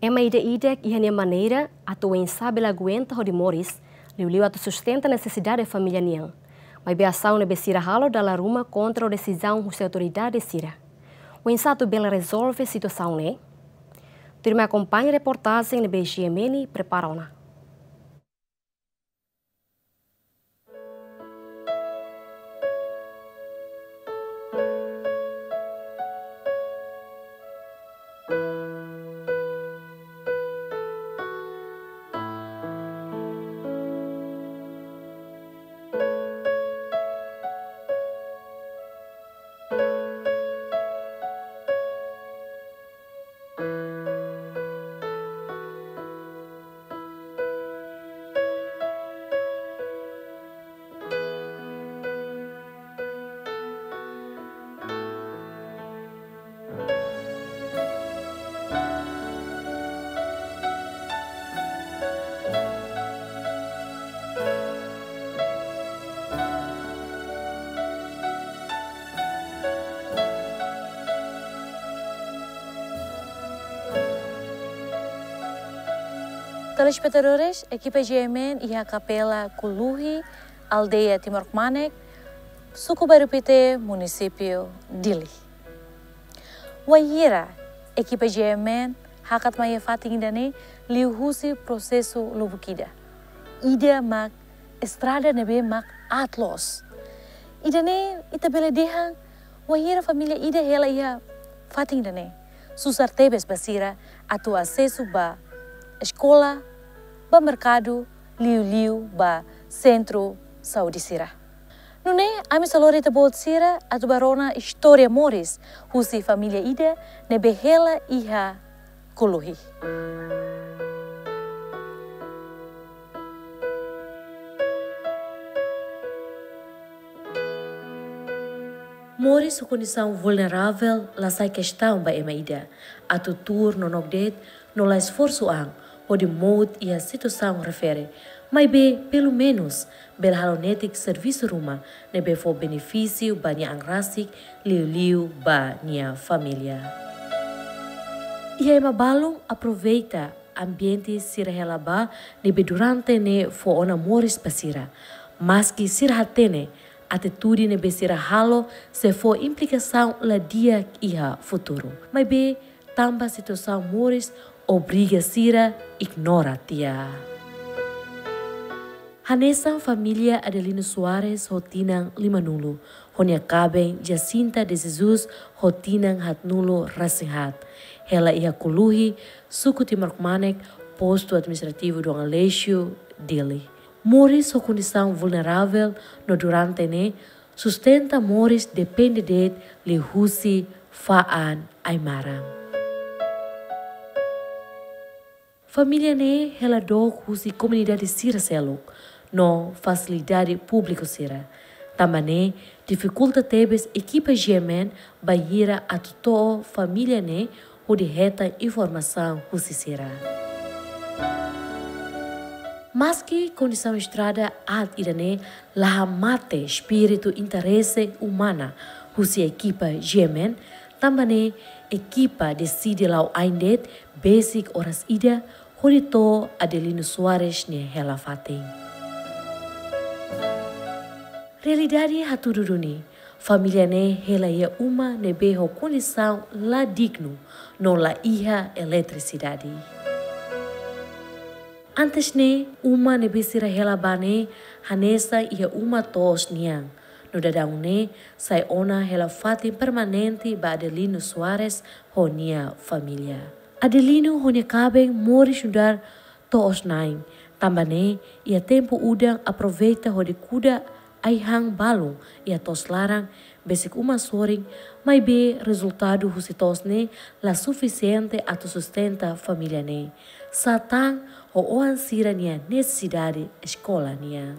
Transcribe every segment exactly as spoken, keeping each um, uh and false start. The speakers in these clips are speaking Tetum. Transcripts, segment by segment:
Ema ida-idak iha nia maneira atu oinsá bele aguenta hodi moris, liuliu atu sustenta nesesidade família nian. Maibé asaun ne'ebé sira halo dala ruma kontra ho desizaun husi autoridade sira. Oinsá atu bele rezolve situasaun ne'e? Tuirmai akompaña reportajen ne'ebé G M N prepara ona. Telespetadores, ekipa G M N iha Kapela Kuluhi, aldeia Timor Kmanek, suku Bairru Pité, munisípiu Dili. Wainhira ekipa G M N hakat mai iha fatin ida-ne'e liuhusi prosesu lubuk ida. Ida mak estrada ne'ebé mak aat loos. Ida-ne'e ita bele dehan wainhira família ida hela iha fatin ida-ne'e, susar tebes ba sira atu asesu ba eskola, ba merkadu, liuliu ba sentru saúde sira. Nune'e, ami sei lori ita-boot sira atu bá rona istória moris husi família ida ne'ebé hela iha Kuluhi. Moris ho kondisaun vulneravel la sai kestaun ba ema ida atu tuur nonook de'it no la esforsu an hodi mout iha situasaun refere, maibé pelumenus bele halo netik servisu ruma ne'ebé fó benefísiu ba nia an rasik, liuliu ba nia família. Iha ema balun aproveita ambiente sira hela ba ne'ebé durante ne'e fó ona moris ba sira. Maski sira hatene atitude ne'ebé sira halo sei fó implikasaun la di'ak iha futuru, maibé tanba situasaun moris obriga sira ignora tiha. Hanesan família Adelino Soares ho tinan limanulu, ho nia kaben Jacinta de Jesus ho tinan haatnulu resin haat, hela iha Kuluhi, suku Timor Kmanek, postu administrativu Dom Aleixo, Dili. Moris ho kondisaun vulneravel no durante ne'e sustenta moris depende de'it liuhusi fa'an ai-maran. Família ne'e hela dook husi komunidade sira seluk no fasilidade públiku sira. Tanba ne'e difikulta tebes ekipa G M N bainhira atu to'o família ne'e hodi hetan informasaun husi sira. Maski kondisaun estrada aat ida-ne'e la hamate espíritu interese umana husi ekipa G M N, tanba ne'e ekipa deside la'o ain de'it besik oras ida hodi to'o Adelino Soares nia hela fatin. Realidade hatudu duni, família ne'e hela iha uma ne'ebé ho kondisaun la dignu no la iha eletrisidade. Antes ne'e, uma ne'ebé sira hela ba ne'e hanesan iha uma to'os nian, no daudaun ne'e sai ona hela fatin permanente ba Adelino Soares ho nia família. Adelino ho nia kaben moris nu'udar to'os-na'in, tanba ne'e iha tempu udan aproveita hodi kuda ai-han balun iha to'os laran besik uma sorin, maibé rezultadu husi to'os ne'e la sufisiente atu sustenta família ne'e, sá tan ho oan sira-nia nesesidade eskola nian.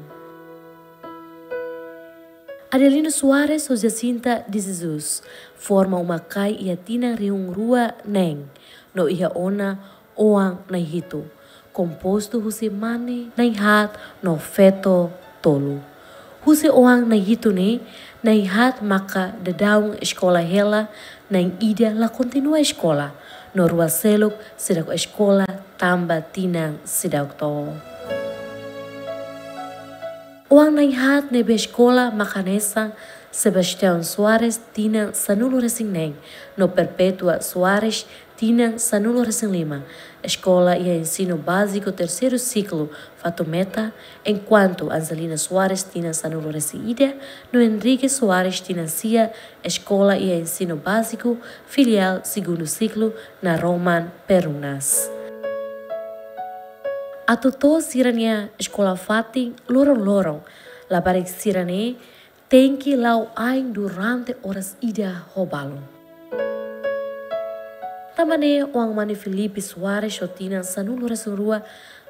Adelino Soares ho Jacinta de Jesus forma uma-kain iha tinan rihun rua neen, no iha ona oan na'in-hitu, kompostu husi mane na'in-haat no feto tolu. Husi oan na'in-hitu ne'e, na'in-haat maka daudaun eskola hela, na'in-ida la kontinua eskola, No rua seluk seidauk eskola tanba tinan seidauk to'o. Oan na'in-haat ne'ebé eskola mak hanesan Sebastião Soares tinan sanulu-resin-neen, no Perpétua Soares tinan sanulu-resin-lima, eskola iha ensinu báziku terseiru siklu Fatumeta, enkuantu Angelina Soares tinan sanulu-resin-ida, no Henrique Soares tinan sia, eskola iha ensinu báziku filiál segundu siklu Naroman Perumnas. Atu to'o sira-nia eskola-fatin loron-loron, labarik sira-ne'e tenke la'o ain durante oras ida ho balun. Tanba ne'e oan mane Filipe Soares ho tinan sanulu-resin-rua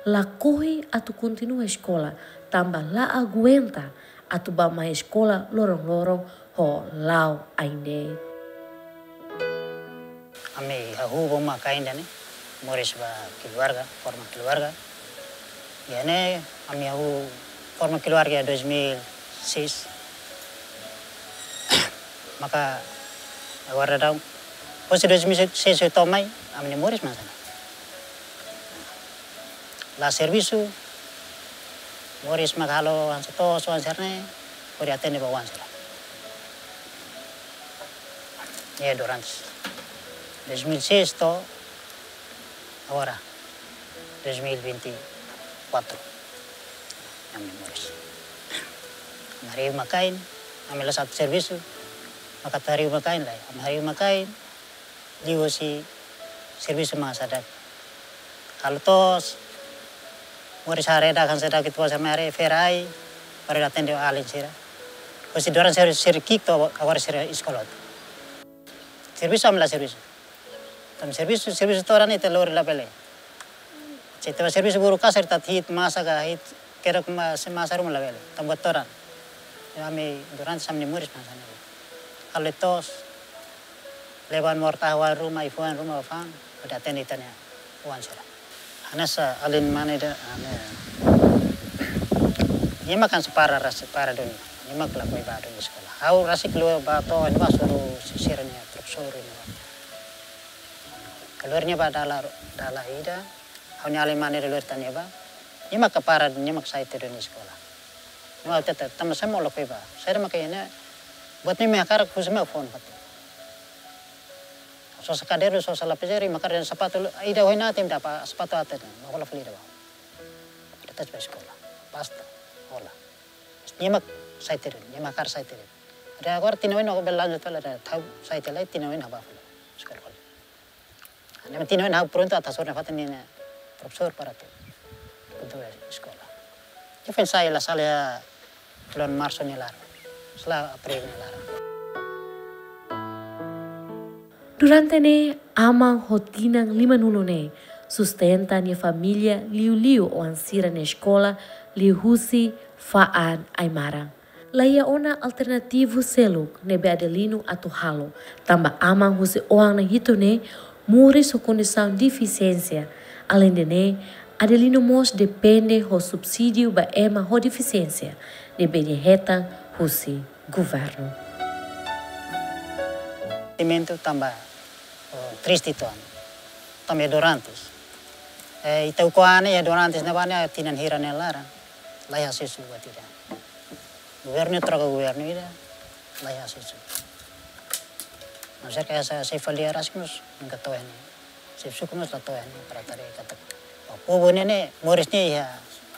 lakohi atu kontinua eskola, tanba la aguenta atu bá mai eskola loron-loron ho la'o ain de'it. Ami hahú ba uma kainda ne'e, moris ba keluarga, forma keluarga. Iha ne'e, ami hahú forma keluarga iha dois mil e seis. Maka, agora daudaun, depois de dois mil e seis to'o mai, ami-nia moris mak hanesan ne'e. La servisu, moris mak halo hanesan to'os oan sira-ne'e, hodi atende ba oan sira. Iha durante dois mil e seis to'o agora, dois mil e vinte e quatro. Ami moris. Ami harii uma kain, ami la sa'e servisu, maka atu harii uma kain lae. Ami harii uma kain, liuhusi servisu mak hanesan ne'e. Halo to'os, moris haree dak hanesan ne'e, ita-boot sira mai haree feira ai, para atende alin sira. Husi durante sira, sira ki'ik to'o agora sira eskola. Servisu ami la servisu. Tanba servisu, servisu todan ita lori labele. Se ita servisu buru kasar, ita hi'it masa ka hi'it kerak masa, masa ruma labele. Tanba todan. Ami durante ami-nia moris mak hanesan ne'e. Halo to'os, leba an morta oan ruma, ifu an ruma, fa'an, hodi atende ita-nia oan sira. Hanesan alin mane ida, ami, nia mak hanesan para rasik, para duni, nia mak lakohi bá duni eskola. Ha'u rasik keluar bá to'o, nia mak hasoru sira-nia profesór nia. Keluar nia bá dala, dala ida, ha'u-nia alin mane ida keluar tan nia bá, nia mak para, nia mak sai tiha duni eskola. Nia mak hatete, tanba saida mak lakohi bá, saida mak iha ne'e, buat ne'e imi hakarak husu mai fó ona fali. Sosa kadernu, sosa lapizeira, imi hakarak sapatu, ida ohin ita imi dapa sapatu atu, mak hola fali ida bá. Ida tes bá eskola. Basta, hola. Nia mak sai tiha, nia mak hakarak sai tiha. Ida agora tinan oin ha'u bele lanjut fali, ida ha'u sai tiha lai tinan oin ha'u bá fali eskola. Ne'e tinan oin ha'u prontu atu hasoru nafatin nia profesór para atu kontinua eskola. Nia foin sai la sala iha fulan Marsu nia laran. Sala Abril nia laran. Durante ne'e, aman ho tinan limanulu ne'e sustenta nia família liuliu oan sira-nia eskola liuhusi fa'an ai-maran. La iha ona alternativu seluk ne'ebé Adelino atu halo, tanba aman husi oan na'in-hitu ne'e moris ho kondisaun defisiénsia. Aleinde ne'e, Adelino mós depende ho subsídiu ba ema ho defisiénsia ne'ebé nia hetan husi governu. Sentimentu tanba, oh, triste uitoan. Tanba iha Dorantes. Eh, ita ukun iha Dorantes ne'ebá ne'e tinan hira nia laran. La iha asesu buat ida. Governu troka governu ida, la iha asesu. Maibé serka esa sei fali rasik mós, nunka to'o iha ne'e. Xefe suku mós la to'o iha ne'e para haree katak, oh, povu ne'e ne'e, moris ne'e iha,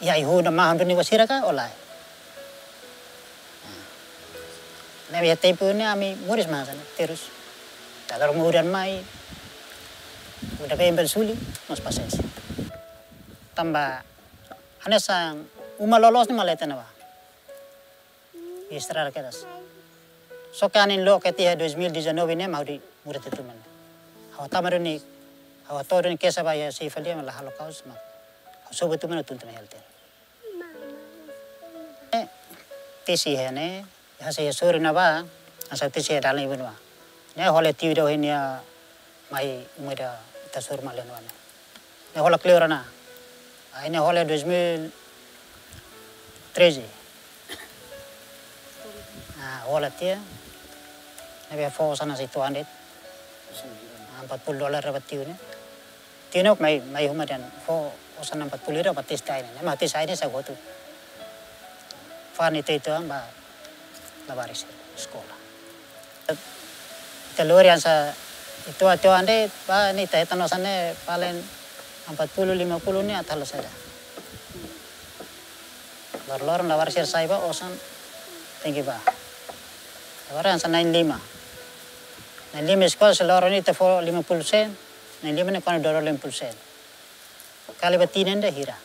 iha ai-hun no mahon duni ba sira ka, o lae. Ne'e iha tempu ne'e ami moris mak hanesan ne'e, terus. Ita lori uma udan mai, udan been bele suli, mós pasiénsia. Tanba, hanesan uma loloos ne'e mak leten ne'ebá. Estraga kedas. Só ke anin loke tiha dois mil e dezanove ne'e mak hodi muda tiha tuman. Ha'u tama duni, ha'u hato'o duni kesa ba iha xefe fali mak la halo kaus mak. Ha'u sobu tuman tun tuman hela tiha. Eh, tesi iha ne'e, iha sei iha sorin ne'ebá, hanesan tesi iha dalan ibun ne'ebá. Ne'e hola tiu ida ohin nia mai uma ida ita hasoru mai leno ane. Ne'e hola kleur ona. Ah, ne'e hola dois mil e treze. Ah, hola tiha. Ne'ebé fó hanesan ne'e sei to'o an de'it. Empat puluh dolar dapat tiu ne'e. Tiu ne'e mai, mai uma dehan fó osan empat puluh ida ba tes ai ne'e. Ne'e mak tes ai ne'e sai hotu. Fa'an ita-ita ba labarik sira eskola. Ita lori hanesan ita atu ande ba ne'e ita hetan osan ne'e paling empat puluh, lima puluh ne'e atu halo saida. Loron-loron labarik sira sai ba osan tenke ba. Agora hanesan na'in lima. Na'in lima eskola se loron ita fó lima puluh sen, na'in lima ne'e kona dua ratus lima puluh sen. Kali ba tinan ida hira.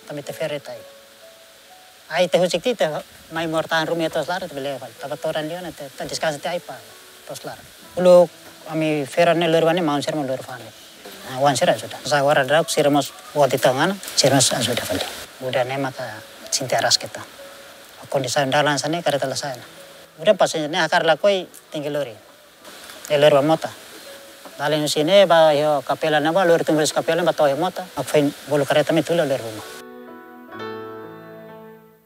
Tanba ita fere ita ai. Ai ita husik tiha ita mai moras tahan ruma iha to'os laran ita bele fali. Tanba todan liu ona ita, ita deskansa tiha ai ba to'os laran. Uluk ami fere ne'e lori ba ne'e maun sira mak lori fa'an. Ah, oan sira ajuda. Sa agora daudaun sira mós buat ita ngana, sira mós ajuda fali. Udah ne'e maka sente arraska ita. Kondisaun dalan hanesan ne'e kareta la sai ona. Udah pas ne'e hakarak lakohi tenke lori. Ne'e lori ba mota. Dala ida husi ne'e ba iha kapela ne'ebá lori tun ba husi kapela ba to'o iha mota. Mak foin bolu kareta mai tula lori ba mota.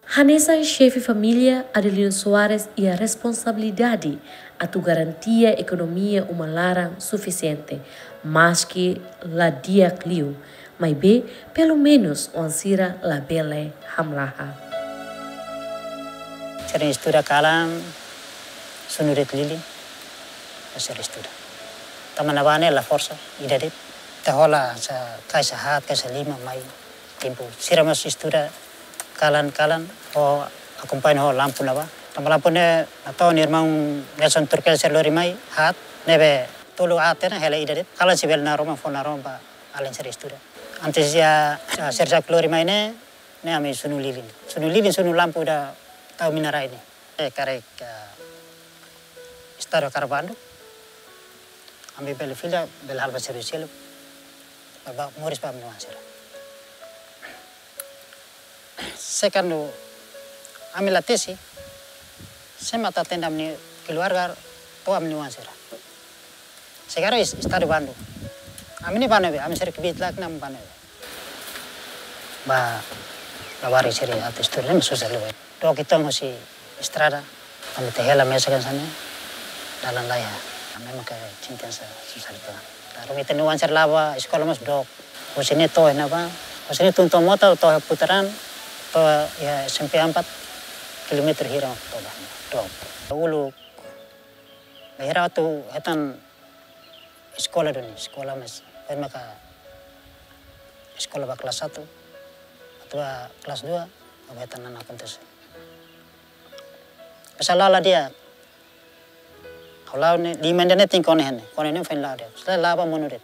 Hanesan xefe família, Adelino Soares iha responsabilidade atu garantia ekonomia uma laran sufisiente, maski la di'ak liu, maibé pelumenus oan sira labele hamlaha. Sira estuda kalan, sunu de'it lilin, sira estuda. Tanba ne'ebá ne'e la forsa, ida de'it. Ita hola hanesan kais haat, kais lima mai. Tempu sira mós estuda kalan-kalan ho akompaña ho lampu ne'ebá. Tanba lampu ne'e atu irmaun Nelson Turkel sira lori mai haat, ne'ebé tolu haat ne'e hela ida de'it. Kalan sei bele naroman fó naroman ba alin sira estuda. Antes iha, ah, sira lori mai ne'e, ne'e ami sunu lilin. Sunu lilin, sunu lampu ida tau mina-rai ne'e. Eh, karik, eh, estadu hakarak bandu, ami bele fila, bele halo servisu seluk, ba, ba, moris ba ami-nia oan sira. Se kuandu ami la tesi, sé mak atu atende ami-nia keluarga, to'o ami-nia oan sira. Sekarang es-, estadu bandu. Ami ne'e bandu be, ami sira kbiit lak ne'e bandu be. Ba, labarik sira atu estuda ne'e susar liu. Dook uitoan husi estrada, ami ita hela mesak hanesan ne'e, dalan laiha. Ami maka cinta sa susar liu. Lalu ita-nia oan sira la'o ba eskola mós dook. Husi ne'e to'o iha ne'ebá, husi ne'e tun to'o mota, to'o iha putaran, to'o iha S M P empat, kilometer hira to'o ba, dook. Uluk, bainhira atu hetan eskola duni, eskola mós, foin maka eskola ba kelas satu, atu ba kelas dua, mak hetan ona akontese. Pas la'o la di'ak, ha'u la'o ne'e, lima ida ne'e tenke kona iha ne'e, kona iha ne'e foin la'o di'ak. Selae la'o ba monu de'it.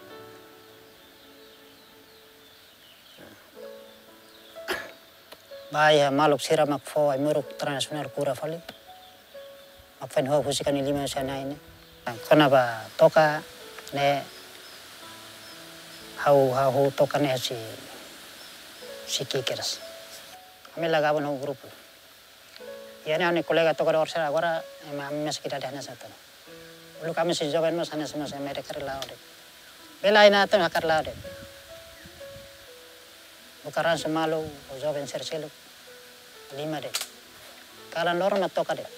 Ba iha maluk sira mak fó ai-moruk transnasionál kura fali. Mak foin ha'u husik ha'u-nia liman husi ai-na'in ne'e. Kona-ba toka ne'e ha'u, ha'u huu toka ne'e husi, husi kikiras. Ami la gabung ho grupu. Iha ne'e ha'u-nia kolega tokadór sira agora, ema ami mesak idade hanesan ne'e. Uluk ami husi joven mós hanesan mós ami hakarak la'o de'it. Bele ai-na'in atu hakarak la'o de'it. Buka ransu malu, ho joven sira seluk. Lima de'it. Kalan loron mak toka de'it.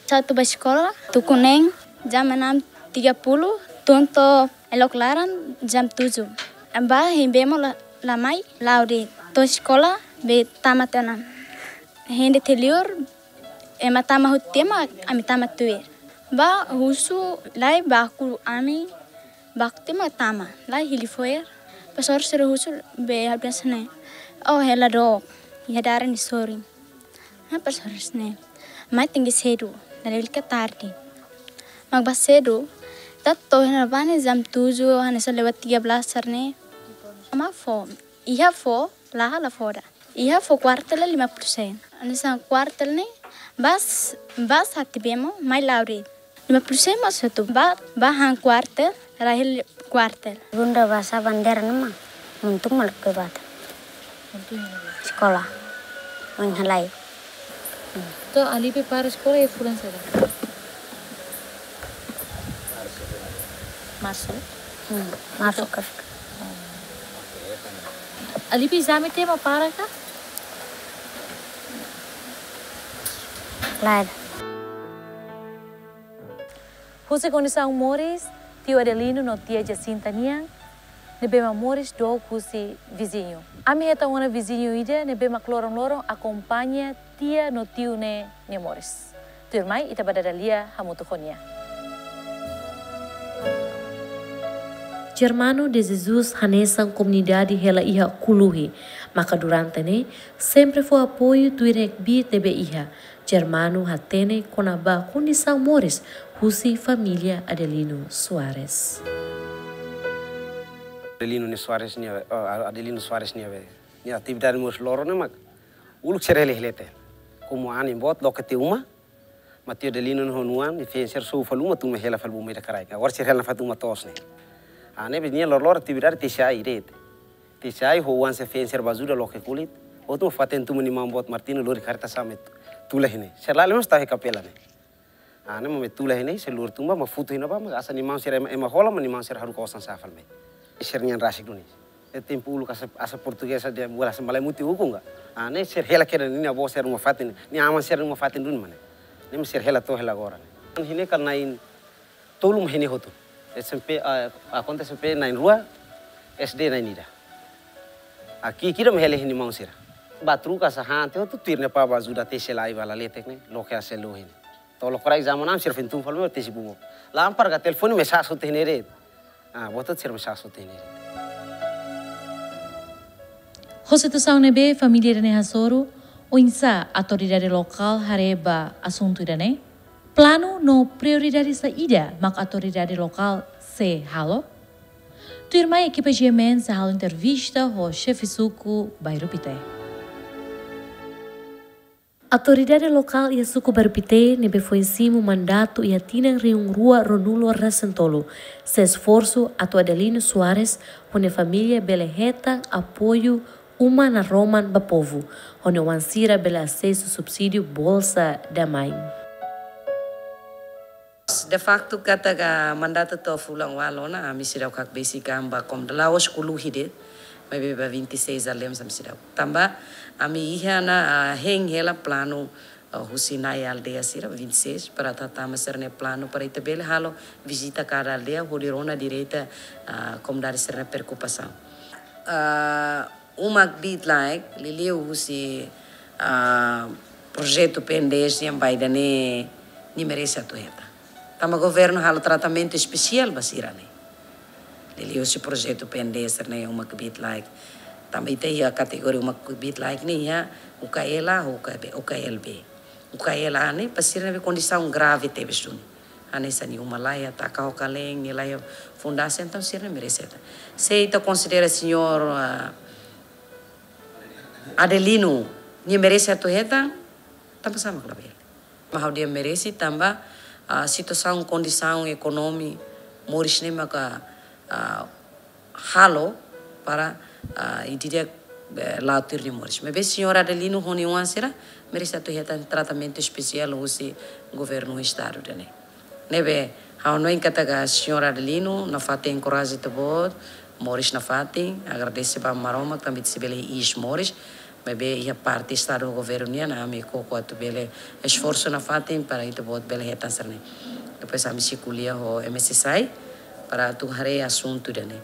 Sa'e atu ba eskola, tuku neen, jam enam tiga puluh, tun to'o elok laran, jam tujuh. Ba hein bee mós la, la mai, la'o de'it. To'o eskola, bee tama tiha ona. Hein de'it liur, ema tama hotu tiha mak, ami tama tuir. Ba husu, lae baku ami, baku tiha mak tama, lae hili fo'er. Profesór sira husu bee ha'u dehan hanesan ne'e. Oh, hela dook, iha daran nia sorin. Ha'u profesór hanesan ne'e. Mai tenke sedu, dala ida ka tarde. Mak ba sedu, ita to'o iha ne'ebá ne'e jam tujuh, hanesan lewat tiga belas sira-ne'e. Mak fó, iha fó, laha la fó ida. Iha fó kuartel lima puluh sen. Hanesan kuartel ne'e, bá, bá sa'e tiha bee mós, mai la'o de'it. Lima puluh sen mós satu, bá, bá han kuartel, rai hela kuartel. Bunda basa bandeira ne'e mak, muntung mak lakohi ba ita. Muntung mak lakohi. Eskola, oin halai. To'o Alibi para eskola iha fulan saida? Marsu? Hmm, Marsu ka. Alibi ezame tiha mak para ka? Lae. Husi kondisaun moris tiu Adelino no tia Jacinta nian, ne'ebé mak moris dook husi viziñu. Ami hetan ona viziñu ida ne'ebé mak loron-loron akompaña tia no tiu ne'e nia moris. Tuirmai ita bá dada lia hamutuk ho nia. Germano de Jesus hanesan komunidade hela iha Kuluhi, maka durante ne'e sempre fó apoiu tuir nia kbiit ne'ebé iha. Germano hatene kona-ba kondisaun moris husi família Adelino Soares. Adelino nia Soares nia, eh, Adelino Soares nia be, nia atividade moris loron ne'e mak uluk sira hela-hela tiha. Komu anin boot loke tiha uma, maibé tiu Adelino nia oan-oan, nia feen sira sou fali uma, tun mai hela fali uma ida kraik. Agora sira hela nafatin uma toos ne'e. Ah, ne'ebé nia loron-loron atividade T C I de'it. T C I ho oan sira feen sira bá ajuda loke kulit. Hotu mak fatin tun mai nia maun boot Martino lori karreta sa'e mai tula iha ne'e. Sira la'o mós tau iha kapela ne'e. Ah, ne'e mak mai tula iha ne'e, sira lori tun bá, mak futu iha ne'ebá, mak hanesan nia maun sira ema, ema hola, mak nia maun sira haruka osan sa'e fali mai. Sira-nian rasik duni. Iha tempu uluk hanesan, hanesan portugés dehan buat hanesan malae mutin ukun ka. Ah, ne'e sira hela kedas nia avó sira-nia uma fatin, nia aman sira-nia uma fatin duni mak ne'e. Ne'e mak sira hela to'o hela agora ne'e. Iha ne'e kala na'in tolu mak iha ne'e hotu. S M P, ah, ah, konta S M P na'in rua, S D na'in ida. Ki'ik ida mak hela iha nia maun sira. Bá troka sá han tiha hotu tuir ne'e para bá ajuda tesi lai bá laletek ne'e, loke hasil lo iha ne'e. To'o loke rai zaman ami sira feen tun fali mai tesi bubu. Lámpara ka telefone mak sasán hotu iha ne'e de'it. Ah, buat hotu sira mak sasán hotu iha ne'e de'it. Ho situasaun ne'ebé família ida-ne'e hasoru, oinsá autoridade lokál haree ba asuntu ida-ne'e? Planu no prioridade saida mak autoridade lokál sei halo? Tuirmai ekipa G M N sei halo entrevista ho xefe suku Bairru Pité. Autoridade lokál iha suku Bairru Pité ne'ebé foin simu mandatu iha tinan rihun rua ruanulu resin tolu, sei esforsu atu Adelino Soares ho nia família bele hetan apoiu uma naroman ba povu, hodi oan sira bele asesu subsídiu Bolsa da Mãe. De facto, katak mandatu to'o fulan ualu ona, ami seidauk hakbesik an ba komunidade, la'ós Kuluhi de'it, maibé ba vinte e seis aldeias ami seidauk. Tanba ami iha ona, ah, hein hela planu, ah, husi na'i aldeia sira vinte e seis, para atu hatama sira-nia planu, para ita bele halo vizita kada aldeia, hodi rona direta, ah, komunidade sira-nia preokupasaun. Ah, uma kbiit-laek, liuliu husi, ah, projetu P N D S nian ba ida-ne'e, nia merese atu hetan. Tanba governu halo tratamentu espesiál ba sira-ne'e. Liuliu husi projetu P N D S ne'e uma kbiit-laek. Tanba ita iha kategoria uma kbiit-laek ne'e iha U K L A, U K B, U K L B. U K L A ne'e para sira ne'ebé kondisaun grave tebes duni. Hanesan nia uma laiha, taka ho kalen, nia laiha fundasaun, entaun sira-ne'e merese hetan. Se ita konsidera señór, ah, Adelino, nia merese atu hetan, tanba sá mak labele. Maibé ha'u dehan merese tanba, ah, situasaun, kondisaun ekonomi moris ne'e maka, ah, halo para, ah, ida-idak, eh, la'o tuir nia moris. Maibé señór Adelino ho nia oan sira merese atu hetan tratamentu espesiál husi governu estadu ida-ne'e. Ne'ebé ha'u hanoin katak señór Adelino nafatin enkoraja ita-boot, moris nafatin, agradese ba Maromak tanba ita sei bele iis moris, maibé iha parte estadu ho governu nian, ami koko atu bele esforsu nafatin para ita-boot bele hetan sira-ne'e. Depois ami sei ko'alia ho M S S I para atu haree asuntu ida-ne'e.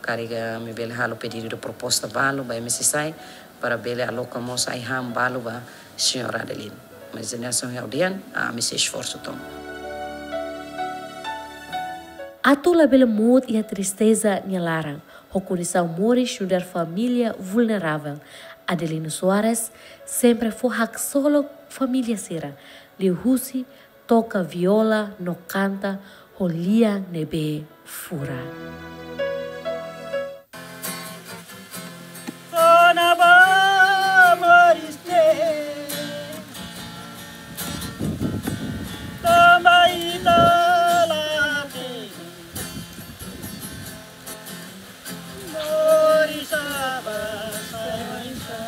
Karik ami bele halo pedidu de proposta balu ba M S S I para bele aloka mós ai-han balu ba señór Adelino. Maibé hanesan ha'u dehan, ami sei esforsu tomak. Atu labele mout iha tristeza nia laran, ho kondisaun moris nu'udar família vulneravel, Adelino Soares sempre fó haksolok família sira, liuhusi toka viola no kanta ho lian ne'ebé furak. Kona-ba moris ne'e, tanba ita la hatene. Moris ba saida?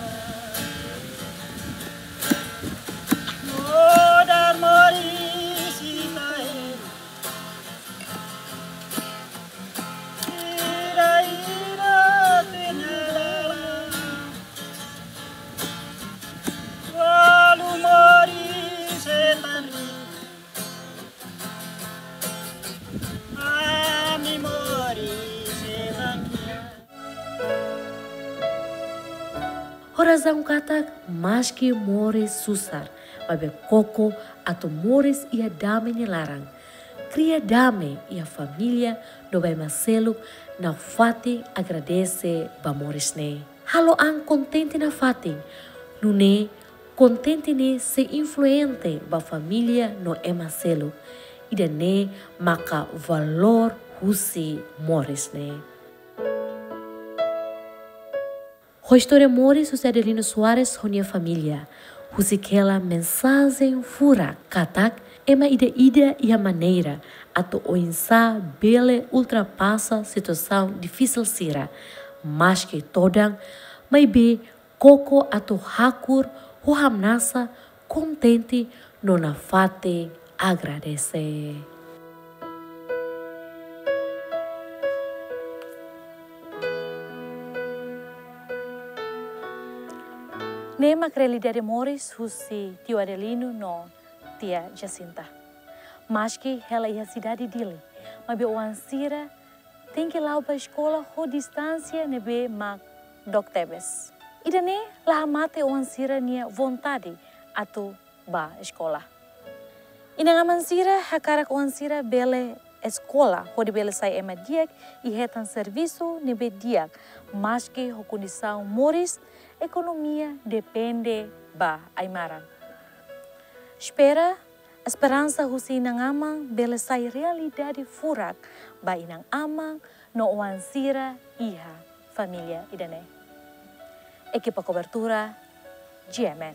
Nu'udar moris ita-nia. Orasaun katak maski moris susar, maibé koko atu moris iha dame nia laran. Kria dame iha família no ba ema seluk nafatin agradese ba moris ne'e. Halo an kontente nafatin, nune'e kontente ne'e sei influente ba família no ema seluk. Ida-ne'e maka valór husi moris ne'e. Ho istória moris husi Adelino Soares ho nia família, husik hela mensajen furak katak ema ida-idak iha maneira atu oinsá bele ultrapasa situasaun difisil sira, maski todan, maibé koko atu hakur ho hamnasa, kontente no nafatin agradese. Ne'e mak realidade moris husi tiu Adelino no tia Jacinta. Maski hela iha sidade Dili, maibé oan sira tenke la'o ba eskola ho distánsia ne'ebé mak dook tebes. Ida-ne'e la hamate oan sira-nia vontade atu ba eskola. Inan-aman sira hakarak oan sira bele eskola hodi bele sai ema di'ak i hetan servisu ne'ebé di'ak, maski ho kondisaun moris ekonomia depende ba ai-maran. Espera, esperansa husi inan-aman bele sai realidade furak ba inan-aman no oan sira iha família ida-ne'e. Ekipa kobertura, G M N.